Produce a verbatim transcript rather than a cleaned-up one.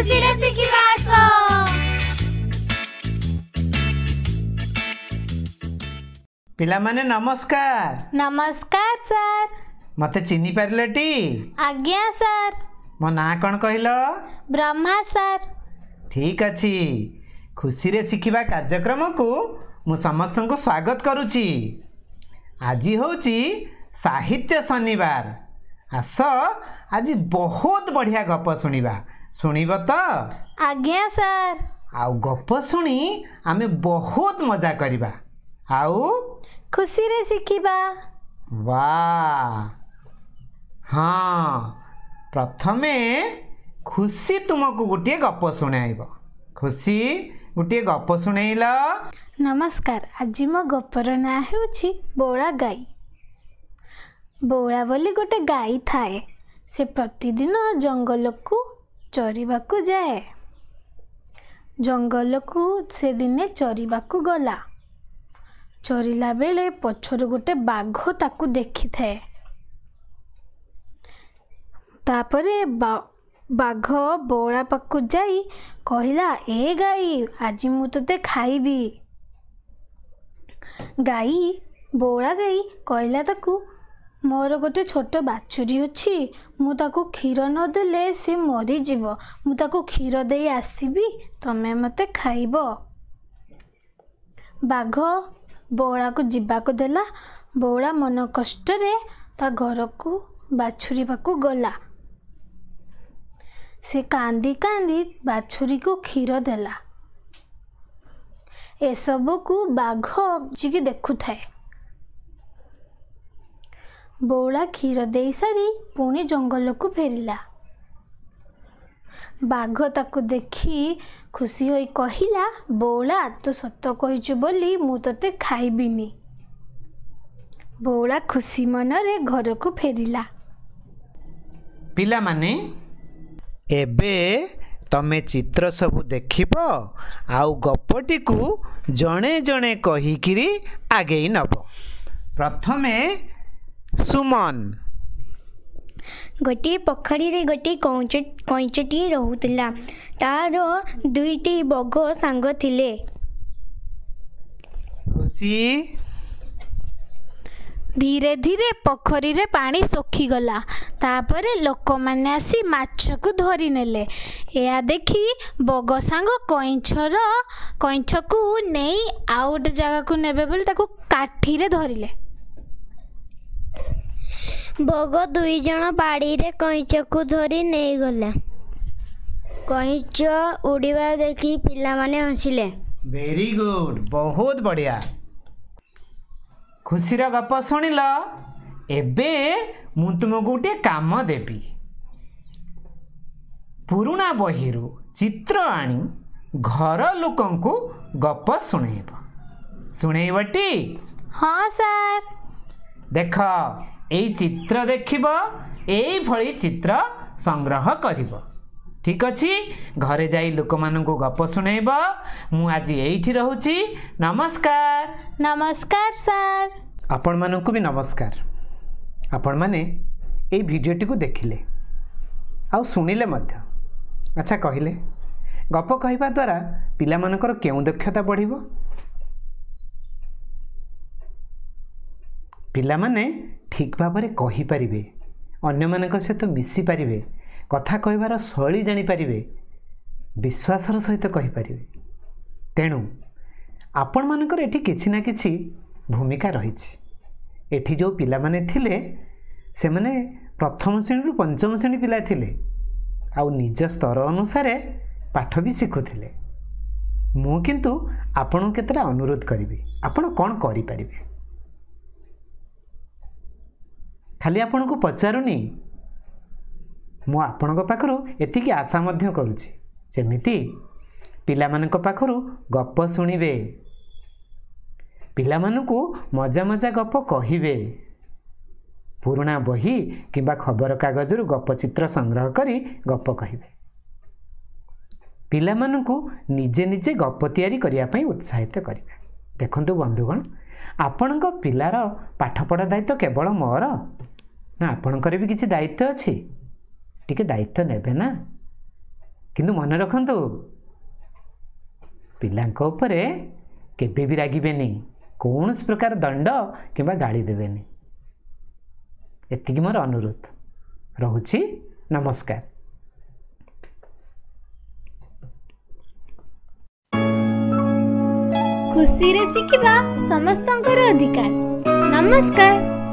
ଖୁସିରେ ଶିଖିବା ଆସ। ପିଲାମାନେ ନମସ୍କାର। ନମସ୍କାର ସାର୍। ମତେ ଚିହ୍ନି ପାରିଲେଟି? ଆଜ୍ଞା ସାର୍। ମୋ ନାଁ କ'ଣ କହିଲ? ବ୍ରହ୍ମା ସାର୍। ଠିକ୍ ଅଛି, ଖୁସିରେ ଶିଖିବା କାର୍ଯ୍ୟକ୍ରମକୁ ମୁଁ ସମସ୍ତଙ୍କୁ ସ୍ୱାଗତ କରୁଛି। ଆଜି ହେଉଛି ସାହିତ୍ୟ ଶନିବାର। ଆସ ଆଜି ବହୁତ ବଢ଼ିଆ ଗପ ଶୁଣିବା। ଶୁଣିବ ତ? ଆଜ୍ଞା ସାର୍। ଆଉ ଗପ ଶୁଣି ଆମେ ବହୁତ ମଜା କରିବା ଆଉ ଖୁସିରେ ଶିଖିବା। ବା ହଁ, ପ୍ରଥମେ ଖୁସି ତୁମକୁ ଗୋଟିଏ ଗପ ଶୁଣାଇବ। ଖୁସି, ଗୋଟିଏ ଗପ ଶୁଣେଇଲ। ନମସ୍କାର। ଆଜି ମୋ ଗପର ନାଁ ହେଉଛି ବୋଳା ଗାଈ। ବୋଳା ବୋଲି ଗୋଟେ ଗାଈ ଥାଏ। ସେ ପ୍ରତିଦିନ ଜଙ୍ଗଲକୁ ଚରିବାକୁ ଯାଏ। ଜଙ୍ଗଲକୁ ସେ ଦିନେ ଚରିବାକୁ ଗଲା। ଚରିଲା ବେଳେ ପଛରୁ ଗୋଟେ ବାଘ ତାକୁ ଦେଖିଥାଏ। ତାପରେ ବାଘ ବୋଳା ପାଖକୁ ଯାଇ କହିଲା, ଏ ଗାଈ, ଆଜି ମୁଁ ତୋତେ ଖାଇବି। ଗାଈ ବୋଳା ଗାଈ କହିଲା ତାକୁ, ମୋର ଗୋଟେ ଛୋଟ ବାଛୁରୀ ଅଛି, ମୁଁ ତାକୁ କ୍ଷୀର ନଦେଲେ ସେ ମରିଯିବ। ମୁଁ ତାକୁ କ୍ଷୀର ଦେଇ ଆସିବି, ତମେ ମୋତେ ଖାଇବ। ବାଘ ବଉଳାକୁ ଯିବାକୁ ଦେଲା। ବଉଳା ମନ କଷ୍ଟରେ ତା ଘରକୁ ବାଛୁରୀ ପାଖକୁ ଗଲା। ସେ କାନ୍ଦି କାନ୍ଦି ବାଛୁରୀକୁ କ୍ଷୀର ଦେଲା। ଏସବୁକୁ ବାଘ ଲୁଚିକି ଦେଖୁଥାଏ। ବଉଳା କ୍ଷୀର ଦେଇସାରି ପୁଣି ଜଙ୍ଗଲକୁ ଫେରିଲା। ବାଘ ତାକୁ ଦେଖି ଖୁସି ହୋଇ କହିଲା, ବଉଳା, ତୁ ସତ କହିଛୁ ବୋଲି ମୁଁ ତୋତେ ଖାଇବିନି। ବଉଳା ଖୁସି ମନରେ ଘରକୁ ଫେରିଲା। ପିଲାମାନେ, ଏବେ ତମେ ଚିତ୍ର ସବୁ ଦେଖିବ ଆଉ ଗପଟିକୁ ଜଣେ ଜଣେ କହିକିରି ଆଗେଇ ନେବ। ପ୍ରଥମେ ସୁମନ। ଗୋଟିଏ ପୋଖରୀରେ ଗୋଟିଏ କଇଁଚ କଇଁଚଟିଏ ରହୁଥିଲା। ତାର ଦୁଇଟି ବଗ ସାଙ୍ଗ ଥିଲେ। ଖୁସି। ଧୀରେ ଧୀରେ ପୋଖରୀରେ ପାଣି ଶୁଖିଗଲା। ତାପରେ ଲୋକମାନେ ଆସି ମାଛକୁ ଧରିନେଲେ। ଏହା ଦେଖି ବଗ ସାଙ୍ଗ କଇଁଛର କଇଁଛକୁ ନେଇ ଆଉ ଗୋଟେ ଜାଗାକୁ ନେବେ ବୋଲି ତାକୁ କାଠିରେ ଧରିଲେ। ବଗ ଦୁଇ ଜଣ ବାଡ଼ିରେ କଇଁଚକୁ ଧରି ନେଇଗଲେ। କଇଁଚ ଉଡ଼ିବା ଦେଖି ପିଲାମାନେ ହସିଲେ। ଭେରି ଗୁଡ୍, ବହୁତ ବଢ଼ିଆ। ଖୁସିର ଗପ ଶୁଣିଲ। ଏବେ ମୁଁ ତୁମକୁ ଗୋଟିଏ କାମ ଦେବି। ପୁରୁଣା ବହିରୁ ଚିତ୍ର ଆଣି ଘର ଲୋକଙ୍କୁ ଗପ ଶୁଣେଇବ। ଶୁଣେଇବଟି? ହଁ ସାର୍। ଦେଖ, ଏଇ ଚିତ୍ର ଦେଖିବ, ଏଇଭଳି ଚିତ୍ର ସଂଗ୍ରହ କରିବ। ଠିକ୍ ଅଛି? ଘରେ ଯାଇ ଲୋକମାନଙ୍କୁ ଗପ ଶୁଣେଇବ। ମୁଁ ଆଜି ଏଇଠି ରହୁଛି। ନମସ୍କାର। ନମସ୍କାର ସାର୍। ଆପଣମାନଙ୍କୁ ବି ନମସ୍କାର। ଆପଣମାନେ ଏଇ ଭିଡ଼ିଓଟିକୁ ଦେଖିଲେ ଆଉ ଶୁଣିଲେ ମଧ୍ୟ। ଆଚ୍ଛା କହିଲେ, ଗପ କହିବା ଦ୍ୱାରା ପିଲାମାନଙ୍କର କେଉଁ ଦକ୍ଷତା ବଢ଼ିବ? ପିଲାମାନେ ଠିକ୍ ଭାବରେ କହିପାରିବେ, ଅନ୍ୟମାନଙ୍କ ସହିତ ମିଶିପାରିବେ, କଥା କହିବାର ଶୈଳୀ ଜାଣିପାରିବେ, ବିଶ୍ୱାସର ସହିତ କହିପାରିବେ। ତେଣୁ ଆପଣମାନଙ୍କର ଏଠି କିଛି ନା କିଛି ଭୂମିକା ରହିଛି। ଏଠି ଯେଉଁ ପିଲାମାନେ ଥିଲେ ସେମାନେ ପ୍ରଥମ ଶ୍ରେଣୀରୁ ପଞ୍ଚମ ଶ୍ରେଣୀ ପିଲା ଥିଲେ ଆଉ ନିଜ ସ୍ତର ଅନୁସାରେ ପାଠ ବି ଶିଖୁଥିଲେ। ମୁଁ କିନ୍ତୁ ଆପଣଙ୍କୁ କେତେଟା ଅନୁରୋଧ କରିବି, ଆପଣ କ'ଣ କରିପାରିବେ? ଖାଲି ଆପଣଙ୍କୁ ପଚାରୁନି, ମୁଁ ଆପଣଙ୍କ ପାଖରୁ ଏତିକି ଆଶା ମଧ୍ୟ କରୁଛି, ଯେମିତି ପିଲାମାନଙ୍କ ପାଖରୁ ଗପ ଶୁଣିବେ, ପିଲାମାନଙ୍କୁ ମଜା ମଜା ଗପ କହିବେ, ପୁରୁଣା ବହି କିମ୍ବା ଖବରକାଗଜରୁ ଗପ ଚିତ୍ର ସଂଗ୍ରହ କରି ଗପ କହିବେ, ପିଲାମାନଙ୍କୁ ନିଜେ ନିଜେ ଗପ ତିଆରି କରିବା ପାଇଁ ଉତ୍ସାହିତ କରିବେ। ଦେଖନ୍ତୁ ବନ୍ଧୁଗଣ, ଆପଣଙ୍କ ପିଲାର ପାଠପଢ଼ା ଦାୟିତ୍ୱ କେବଳ ମୋର ନା ଆପଣଙ୍କର ବି କିଛି ଦାୟିତ୍ୱ ଅଛି? ଟିକେ ଦାୟିତ୍ୱ ନେବେ ନା? କିନ୍ତୁ ମନେ ରଖନ୍ତୁ, ପିଲାଙ୍କ ଉପରେ କେବେ ବି ରାଗିବେନି, କୌଣସି ପ୍ରକାର ଦଣ୍ଡ କିମ୍ବା ଗାଳି ଦେବେନି। ଏତିକି ମୋର ଅନୁରୋଧ ରହୁଛି। ନମସ୍କାର। ଖୁସିରେ ଶିଖିବା ସମସ୍ତଙ୍କର ଅଧିକାର। ନମସ୍କାର।